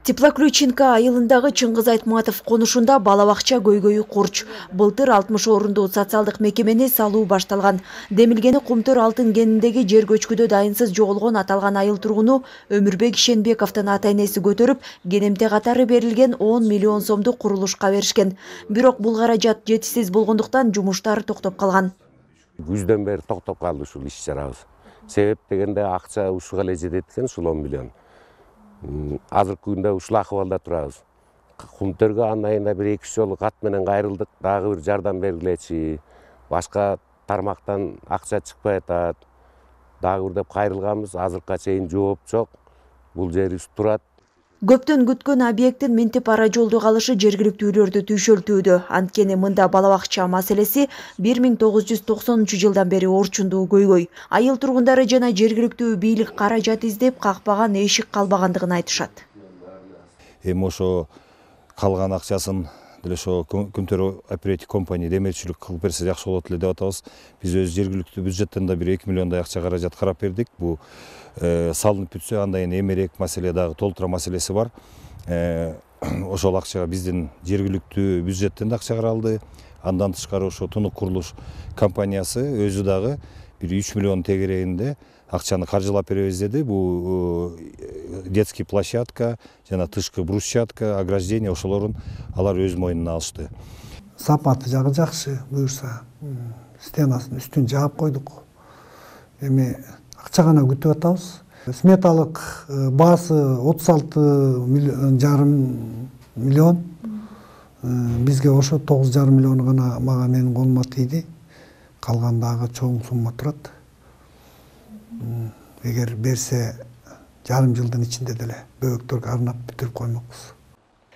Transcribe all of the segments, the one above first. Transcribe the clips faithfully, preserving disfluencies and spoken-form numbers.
Теплоключинка айылындагы Чыңгыз Айтматов конушунда бала бакча көйгөйү курч. Былтыр алтымыш орундуу социалдык мекемени салуу башталган. Демилгени Кумтөр алтын кениндеги жер көчкүдө дайынсыз жоголгон аталган айыл тургуну Өмүрбек Ишенбековдун ата-энеси көтөрүп, кенемте катары берилген он миллион сомду курулушка беришкен. Бирок бул каражат жетишсиз болгондуктан жумуштар токтоп калган. Күздөн бери токтоп калды ушул иш чарабыз. Себеп дегенде акча ушуга эле жетет экен, ушул он миллион. Азыркы күндө ушул акыбалда турабыз. Кумтөргө анын айында бир эки үч жолу кат менен кайрылдык, дагы бир жардам бергилечи. Башка тармактан акча чыкпай атат. Дагы бир деп кайрылганбыз, азыркыга чейин жооп жок. Бул жерибиз турат. Көптөн күткөн объекттин минтип ара жолду калышы жергиликтүүлөрдү түйшөлтүүдө. Анткени мында бала бакча маселеси бир миң тогуз жүз токсонунчу жылдан бери орчундуу көйгөй. Айыл тургундары жана жергиликтүү бийлик каражат издеп какпаган эшик калбагандыгын айтышат. Эми ошо калган акчасын деле ошо Кумтөр оператив компания демечилик кылып берсе жакшы болот эле деп атабыз. Биз өз жергиликтүү бюджеттен да бир эки миллиондай акча каражат карап бердик. Бул салынып бүтсө андан эмерек маселе дагы толтура маселеси бар. Ошол акчага биздин жергиликтүү бюджеттен да акча каралды. Андан тышкары ошо Тунук курулуш компаниясы өзү дагы бир үч миллион тегерегинде акчаны каржылап беребиз деди. Бул детский площадка жана тышкы брусчатка, ограждение ошолорун алар өз мойнуна алышты. Сапаты жагы жакшы, буюрса стенасын үстүн жаап койдук. Эми акча гана күтүп атабыз. Сметалык баасы отуз алты жарым миллион. Бизге ошо тогуз жарым миллион гана мага менин колума тийди. Калгандагы чоң сумма турат. Эгер берсе жарым жылдын ичинде деле бөөктөргө арнап бүтүрүп коймокпуз.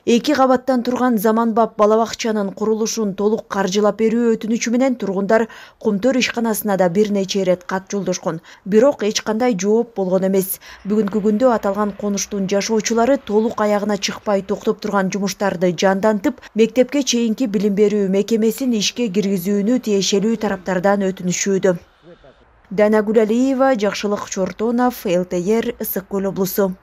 Эки кабаттан турган заманбап бала бакчанын курулушун толук каржылап берүү өтүнүчү менен тургундар Кумтөр ишканасына да бир нече ирет кат жолдошкон. Бирок эч кандай жооп болгон эмес. Бүгүнкү күндө аталган конуштун жашоочулары толук аягына чыкпай токтоп турган жумуштарды жандантып, мектепке чейинки билим берүү мекемесин ишке киргизүүнү тиешелүү тараптардан өтүнүшүүдө. Данагүл Алиева, Жакшылык Чортонов, эл тэ эр, Ысык Көл облусу.